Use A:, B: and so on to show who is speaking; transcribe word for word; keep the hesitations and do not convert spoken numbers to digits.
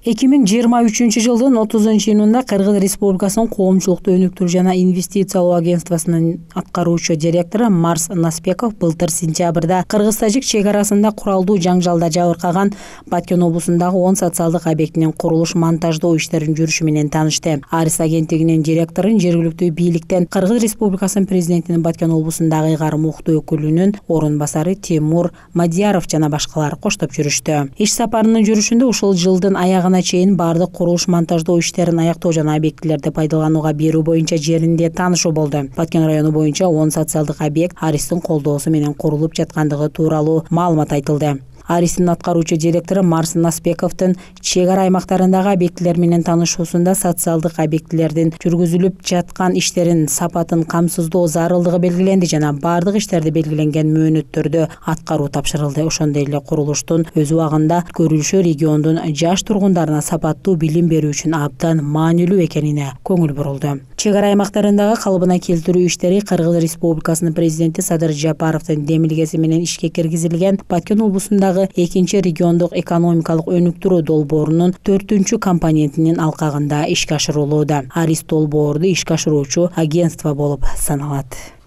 A: эки миң жыйырма үчүнчү жылдын отузунчу июнунда Кыргыз Республикасынын коомчулукту өнүктүрүү жана инвестициялоо агентствосунун аткаруучу директору Марс Наспеков былтыр сентябрда кыргыз-тажик чек арасында куралдуу жаңжалда жабыркаган Баткен облусундагы он социалдык объектинин курулуш монтаждоо иштеринин жүрүшү менен таанышты. Арис агенттигинин директорун жергиликтүү бийликтен Кыргыз Республикасынын президентинин Баткен облусундагы ыйгарым укуктуу өкүлүнүн орун басары Тимур Мадияров жана башкалар коштоп жүрүштү. Иш сапарынын жүрүшүндө ушул жылдын аягына чейин бардык курулуш монтаждоо иштерин аяктоо жана объектилерди пайдаланууга берүү боюнча жеринде таанышуу болду. Баткен району боюнча он социалдык объект Аристин колдоосу менен курулуп жаткандыгы тууралуу маалымат айтылды. Аристин аткаруучу директору Марс Наспековдун чек ара аймактарындагы объектилер менен таанышуусунда социалдык объектилердин жүргүзүлүп жаткан иштерин сапатын камсыздоо зарылдыгы белгиленди жана бардык иштерди белгиленген мөөнөттөрдө аткаруу тапшырылды. Ошондой эле курулуштун өз убагында көрүлүшү региондун жаш тургундарына сапаттуу билим берүү үчүн абдан маанилүү экенине көңүл бурулду. Чек ара аймактарындагы калыбына келтирүү иштери Кыргыз Республикасынын президенти Садыр Жапаровдун демилгеси менен ишке киргизилген Баткен облусундагы экинчи региондук экономикалык өнүктүрүү долбоорунун төртүнчү компонентинин алкагында ишке ашырылууда. Арис долбоорду ишке ашыруучу агентство болуп саналат.